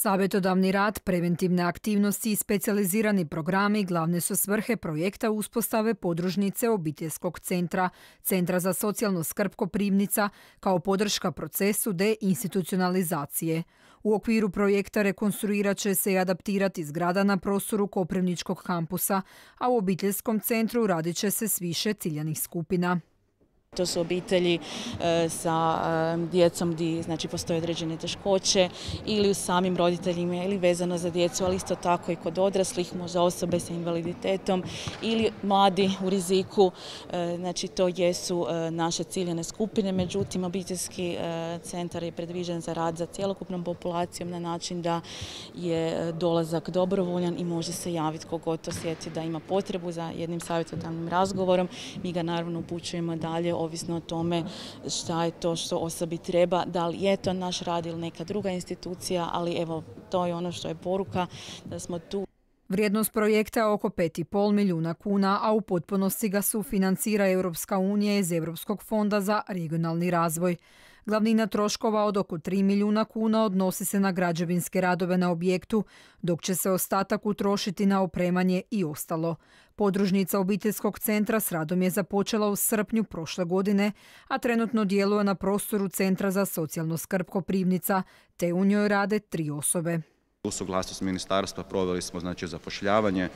Savjetodavni rad, preventivne aktivnosti i specijalizirani programi glavne su svrhe projekta uspostave podružnice obiteljskog centra, Centra za socijalnu skrb Koprivnica, kao podrška procesu deinstitucionalizacije. U okviru projekta rekonstruirat će se i adaptirati zgrada na prostoru Koprivničkog kampusa, a u obiteljskom centru radit će se s više ciljanih skupina. To su obitelji sa djecom gdje postoje određene teškoće ili u samim roditeljima ili vezano za djecu, ali isto tako i kod odraslih, možda osobe sa invaliditetom ili mladi u riziku. To jesu naše ciljane skupine, međutim obiteljski centar je predviđen za rad za cjelokupnom populacijom na način da je dolazak dobrovoljan i može se javiti kogod osjeti da ima potrebu za jednim savjetodavnim razgovorom. Mi ga naravno upućujemo dalje ovisno o tome šta je to što osobi treba, da li je to naš rad ili neka druga institucija, ali evo, to je ono što je poruka, da smo tu. Vrijednost projekta je oko 5,5 milijuna kuna, a u potpunosti ga sufinancira Europska unija iz Europskog fonda za regionalni razvoj. Glavnina troškova od oko 3 milijuna kuna odnosi se na građevinske radove na objektu, dok će se ostatak utrošiti na opremanje i ostalo. Podružnica obiteljskog centra s radom je započela u srpnju prošle godine, a trenutno djeluje na prostoru Centra za socijalnu skrb Koprivnica, te u njoj rade 3 osobe. U suglasnost ministarstva proveli smo zapošljavanje.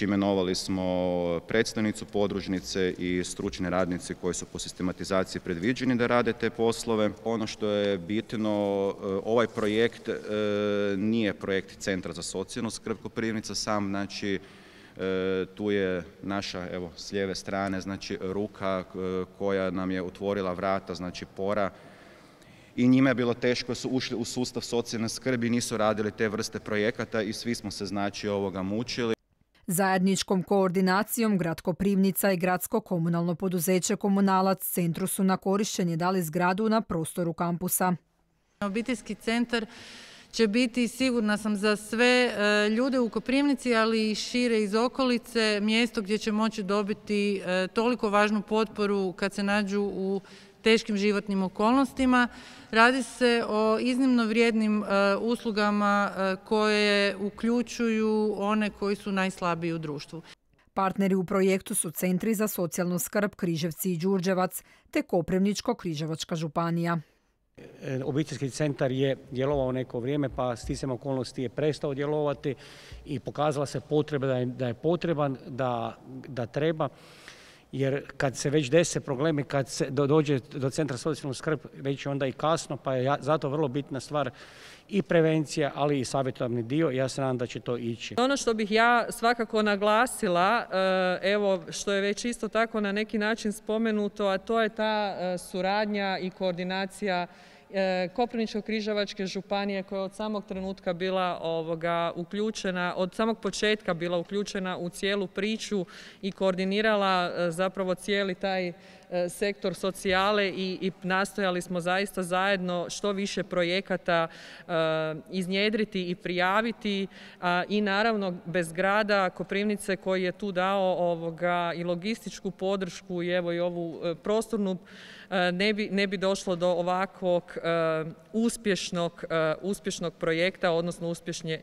Imenovali smo predstavnicu podružnice i stručne radnice koji su po sistematizaciji predviđeni da rade te poslove. Ono što je bitno, ovaj projekt nije projekt Centra za socijalnu skrb Koprivnica sam, tu je naša, evo, s lijeve strane, ruka koja nam je otvorila vrata, Pora. I njima je bilo teško, su ušli u sustav socijalne skrbi, nisu radili te vrste projekata i svi smo se mučili. Zajedničkom koordinacijom Grad Koprivnica i Gradsko komunalno poduzeće Komunalac centru su na korištenje dali zgradu na prostoru kampusa. Obiteljski centar će biti, sigurna sam, za sve ljude u Koprivnici, ali i šire iz okolice, mjesto gdje će moći dobiti toliko važnu potporu kad se nađu u teškim životnim okolnostima. Radi se o iznimno vrijednim uslugama koje uključuju one koji su najslabiji u društvu. Partneri u projektu su Centri za socijalnu skrb Križevci i Đurđevac te Koprivničko-križevačka županija. Obiteljski centar je djelovao neko vrijeme, pa sticajem okolnosti je prestao djelovati i pokazala se potreba da je potreban, da treba. Jer kad se već dese problemi, kad se dođe do Centra socijalnu skrb, već je onda i kasno, pa je zato vrlo bitna stvar i prevencija, ali i savjetodavni dio. Ja se nadam da će to ići. Ono što bih ja svakako naglasila, evo što je već isto tako na neki način spomenuto, a to je ta suradnja i koordinacija Koprivničko-križevačke županije koja je od samog trenutka bila uključena, od samog početka bila uključena u cijelu priču i koordinirala zapravo cijeli taj sektor socijale i nastojali smo zaista zajedno što više projekata iznjedriti i prijaviti i naravno bez grada Koprivnice koji je tu dao i logističku podršku i evo i ovu prostornu ne bi došlo do ovakvog uspješnog projekta, odnosno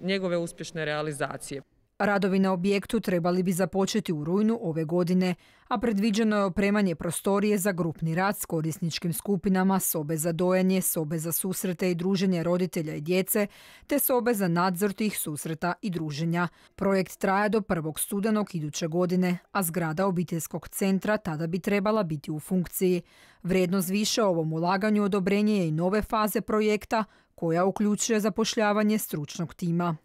njegove uspješne realizacije. Radovi na objektu trebali bi započeti u rujnu ove godine, a predviđeno je opremanje prostorije za grupni rad s korisničkim skupinama, sobe za dojenje, sobe za susrete i druženje roditelja i djece, te sobe za nadzor tih susreta i druženja. Projekt traje do 1. studenog iduće godine, a zgrada obiteljskog centra tada bi trebala biti u funkciji. Vrijednost više ovom ulaganju odobrenje je i nove faze projekta, koja uključuje zapošljavanje stručnog tima.